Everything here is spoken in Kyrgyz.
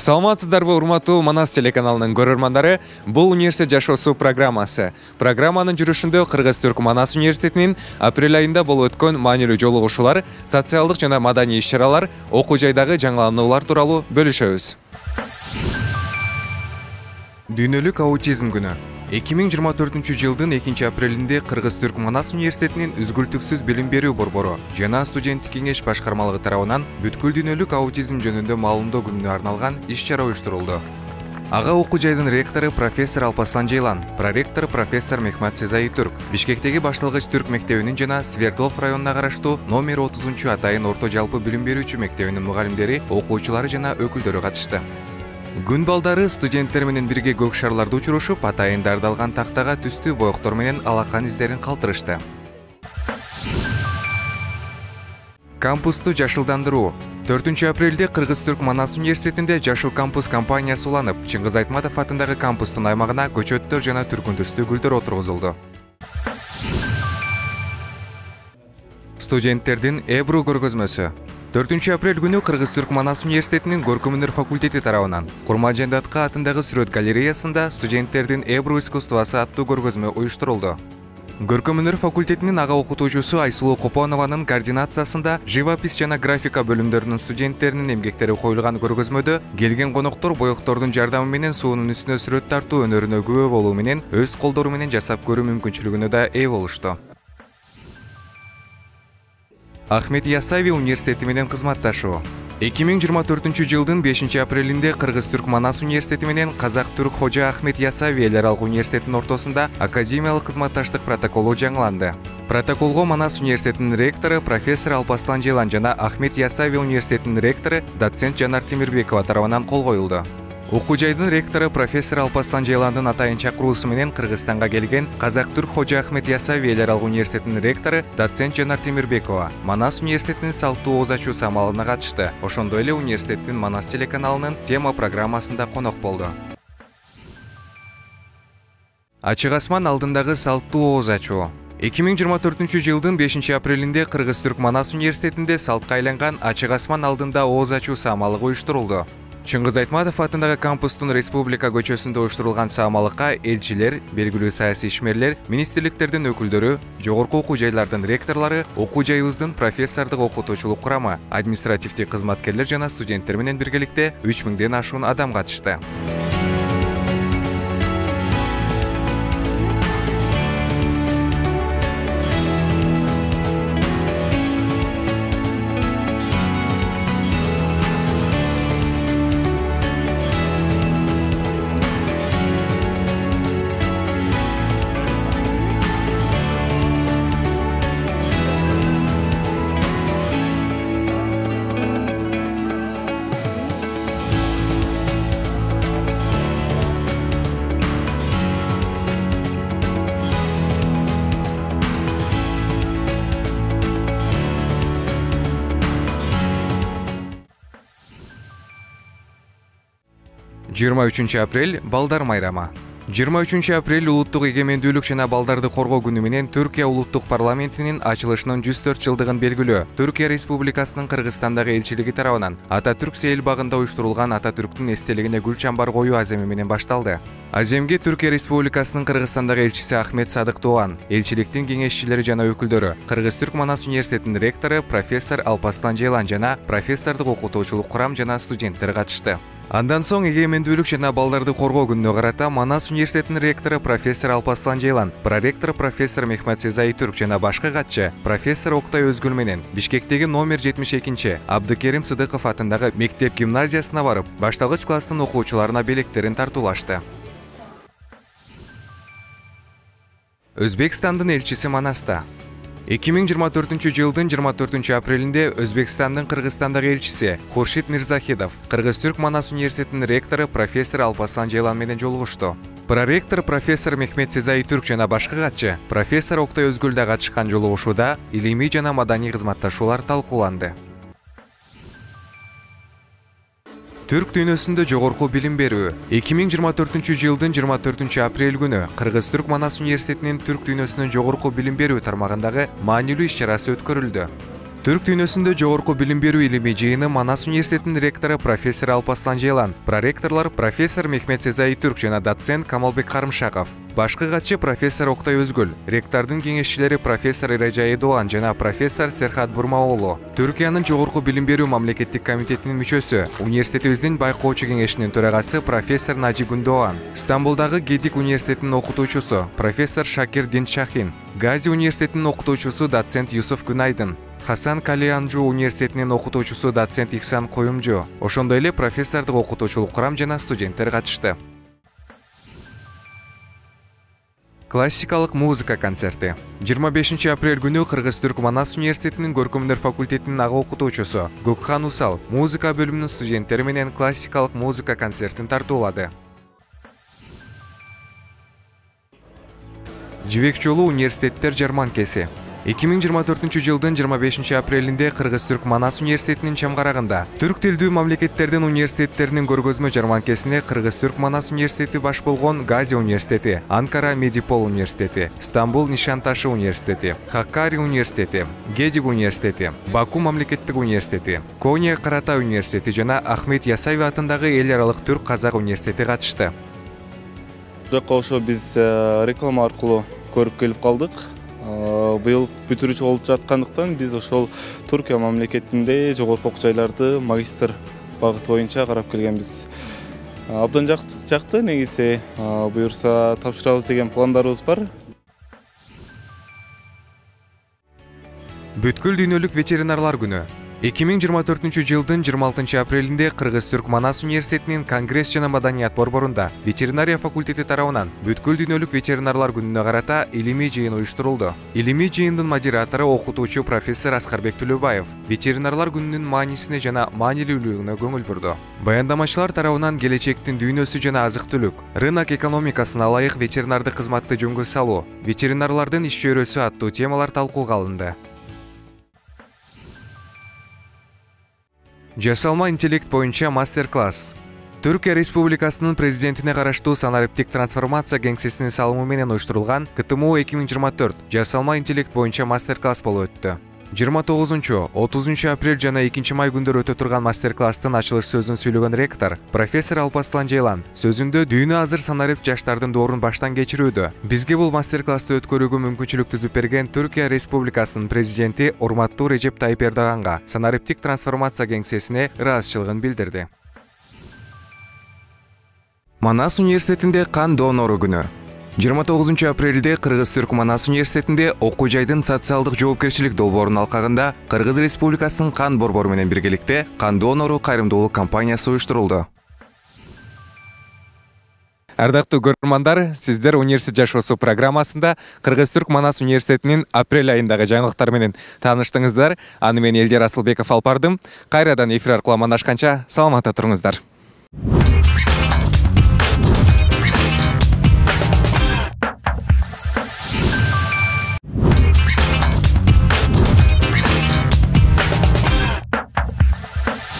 Саламатсыздарбы, урматтуу Манас телеканалынын көрөрмандары. Бул университет жашоосу программасы. Программанын жүрүшүндө Кыргыз-Түрк Манас университетинин апрель айында болуп өткөн маанилүү жолугушуулар, социалдык жана маданий иш-чаралар, окуу жайдагы жаңылануулар тууралуу бөлүшөбүз. Дүйнөлүк аутизм күнү. 2024 жылдын 2 апрелинде Кыргыз-Түрк Манас университетинин үзгүлтүксүз билим берүү борбору жана студенттик кеңеш башкармалыгы тарабынан бүткүл дүйнөлүк аутизм жөнүндө маалымдоо күнүнө арналган иш-чара уюштурулду. Ага окуу жайдын ректору профессор Алпаслан Жейлан, проректор профессор Мехмат Сезай Түрк, Бишкектеги башталгыч түрк мектебинин жана Свердлов районуна караштуу номер 30 атайын орто жалпы билим берүүчү мектебинин мугалимдери, окуучулары жана өкүлдөрү катышты. Күн балдары студенттер менен бирге көк шарларды учурушуп, атайын дардалган тактага түстүү боектор менен алакан издерин калтырышты. Кампусту жашылдандыруу. 4 апрелде Кыргыз-Түрк Манас университетинде Жашыл кампус компаниясы уланып, Чыңгыз Айтматов атындагы кампустун аймагына көчөттөр жана түркүндүстүү гүлдөр отургузулду. Студенттердин Эбру көргөзмөсү. 4 апрель күнү Кыргыз-Түрк Манас университетинин көркөм өнөр факультети тарабынан Курманжан Датка атындагы сүрөт галереясында студенттердин Эбру искусствосу аттуу көргөзмө уюштурулду. Көркөм өнөр факультетинин ага окутуучусу Айсулуу Копонованын координациясында живопись жана графика бөлүмдөрүнүн студенттеринин эмгектери коюлган көргөзмөдө келген коноктор боектордун жардамы менен суунун үстүнө сүрөт тартуу өнөрүнө күбө болуу менен өз колдору менен жасап көрүү мүмкүнчүлүгүнө да ээ болушту. Ахмет Ясави университети менен кызматташуу. 2024 жылдын 5 апрелинде Кыргыз-Түрк Манас университети менен Казак-Түрк Хожа Ахмет Ясави эл аралык университетинин ортосунда академиялык кызматташтык протоколу жаңыланды. Протоколго Манас университетинин ректору профессор Алпаслан Жейлан жана Ахмет Ясави университетинин ректору доцент Жанар Темирбекова тарабынан кол коюлду. Окуу жайдын ректору профессор Алпаслан Жейландын атайын чакыруусу менен Кыргызстанга келген Казак-Түрк Хожа Ахмет Ясави эл аралык университетинин ректору доцент Жанар Темирбекова Манас университетинин салттуу ооз ачуу самалына катышты. Ошондой эле университеттин Манас телеканалынын тема программасында конок болду. Ачык асман алдындагы салттуу ооз ачуу. 2024 жылдын 5 апрелинде Кыргыз-Түрк Манас университетинде салтка айланган Ачык асман алдында ооз ачуу самалыгы уюштурулду. Чыңгыз Айтматов атындагы кампустун Республика көчөсүндө уюштурулган самалыкка элчилер, белгилүү саясий ишмерлер, министрликтердин өкүлдөрү, жогорку окуу жайлардын ректорлору, окуу жайыбыздын профессордук окутуучулук курамы, административдик кызматкерлер жана студенттер менен биргеликте 3000ден ашуун адам катышты. Жыйырма 3 апрель балдар майрамы. 23 апрель улуттук эгемендүүлүк жана балдарды коргоо күнү менен Түркия улуттук парламентинин ачылышынын 104 жылдыгын белгилөө Түркия Республикасынын Кыргызстандагы элчилиги тарабынан Ататүрк сейил багында уюштурулган Ататүрктүн эстелигине гүл чамбар коюу аземи менен башталды. Аземге Түркия Республикасынын Кыргызстандагы элчиси Ахмет Садык Туган, элчиликтин кеңешчилери жана өкүлдөрү, Кыргыз-Түрк Манас университетинин ректору профессор Алпаслан Жейлан жана профессордук окутуучулук курам жана студенттер катышты. Андан соң эгемендүүлүк жана балдарды коргоо күнүнө карата Манас университетинин ректору профессор Алпаслан Жейлан, проректор профессор Мехмат Сезай Түрк жана башка катчы профессор Октай Өзгүл менен Бишкектеги номер 72 Абдыкерим Сыдыков атындагы мектеп гимназиясына барып, башталгыч класстын окуучуларына белектерин тартуулашты. Өзбекстандын элчиси Манаста. 2024 жылдын 24 апрелинде Өзбекстандын Кыргызстандагы элчиси Хуршид Мирзахидов Кыргыз-Түрк Манас университетинин ректору профессор Алпаслан Жейлан менен жолугушту. Проректор профессор Мехмет Сезай Түрк жана башка катчы профессор Октай Өзгүл да катышкан жолугушууда илимий жана маданий кызматташуулар талкууланды. Түрк дүйнөсүндө жогорку билим берүү. 2024 жылдын 24 апрель күнү Кыргыз-Түрк Манас университетинин Түрк дүйнөсүнүн жогорку билим берүү тармагындагы маанилүү иш-чарасы өткөрүлдү. Түрк дүйнөсүндө жогорку билим берүү илимий жыйыны Манас университетинин ректору профессор Алпаслан Жейлан, проректорлор профессор Мехмет Сезай Түрк жана доцент Камалбек Карымшаков. Башкы катчы профессор Октай Өзгүл, ректордун кеңешчилери профессор Ирежай Эдуан жана профессор Серхат Бурмаоğlu. Түркиянын жогорку билим берүү мамлекеттик комитетинин мүчөсү, университетибиздин байкоочу кеңешинин төрагасы профессор Нажи Гүндоан, Стамбулдагы Гедик университетинин окутуучусу профессор Шакир Диншахин, Гази университетинин окутуучусу доцент Юсуф Күнайдын, Хасан Калианжу университетинин окутуучусу доцент Ихсан Коюмжу, ошондой эле профессордук окутуучулук курам жана студенттер катышты. Классикалык музыка концерти. 25 апрель күнү Кыргыз-Түрк Манас университетинин көркөмдөр факультетинин ага окутуучусу Гөкхан Усал музыка бөлүмүнүн студенттери менен классикалык музыка концертин тартуулады. Жибек жолу университеттер жарманкеси. 2024 жылдын 25 апрелинде Кыргыз-Түрк Манас университетинин чамгарагында түрк тилдүү мамлекеттердин университеттеринин көргөзмө жарманкесине Кыргыз-Түрк Манас университети баш болгон Гази университети, Анкара Медипол университети, Стамбул Нишанташы университети, Хаккари университети, Гедик университети, Баку мамлекеттик университети, Кония Каратай университети жана Ахмет Ясаев атындагы эл аралык түрк казак университети катышты. Жакка ошо биз реклама аркылуу көрүп келип калдык. Быйыл бүтүрүүчү болуп жаткандыктан биз ошол Түркия мамлекетинде жогорку окуу жайларды магистр багыты боюнча карап келгенбиз. Абдан жакты, негизи буюрса тапшырабыз деген пландарыбыз бар. Бүткүл дүйнөлүк ветеринарлар күнү. 2024 жылдын 26 апрелинде Кыргыз-Түрк Манас университетинин Конгресс жана маданият борборунда ветеринария факультети тарабынан бүткүл дүйнөлүк ветеринарлар күнүнө карата илимий жыйын уюштурулду. Илимий жыйындын модератору окутуучу профессор Аскарбек Төлөбаев ветеринарлар күнүнүн маанисине жана маанилүүлүгүнө көңүл бурду. Баяндамачылар тарабынан келечектин дүйнөсү жана азык-түлүк, рынок экономикасына ылайык ветеринардык кызматты жөнгө салуу, ветеринарлардын иш чөйрөсү аттуу темалар талкууга алынды. Жасалма интеллект боюнча мастер-класс. Түркия Республикасынын президентине караштуу санариптик трансформация кеңсесинин салымы менен уюштурулган КТМУ 2024 жасалма интеллект боюнча мастер-класс болуп өттү. 29-30 апрель жана 2 май күндөр өтө турган мастер-класстын ачылыш сөзүн сүйлөгөн ректор профессор Алпаслан Жейлан сөзүндө дүйнө азыр санарипт жаштардын доорун баштан кечирүүдө. Бизге бул мастер-классты өткөрүүгө мүмкүнчүлүк түзүп берген Түркия Республикасынын президенти урматтуу Режеп Тайып Эрдоганга санариптик трансформация кеңсесине ыраазычылыгын билдирди. Манас университетинде кан донору күнү. 29 апрелде Кыргыз-Түрк Манас университетинде окуу жайдын социалдык жоопкерчилик долбоорунун алкагында Кыргыз Республикасынын кан борбору менен биргеликте кан донору кайрымдуулук кампаниясы уюштурулду. Ардактуу көрөрмандар, сиздер университет жашоосу программасында Кыргыз-Түрк Манас университетинин апрель айындагы жаңылыктар менен тааныштыңыздар. Аны мен Элдер Асылбеков алып бардым. Кайрадан эфир аркылуу амандашканча саламатта туруңуздар.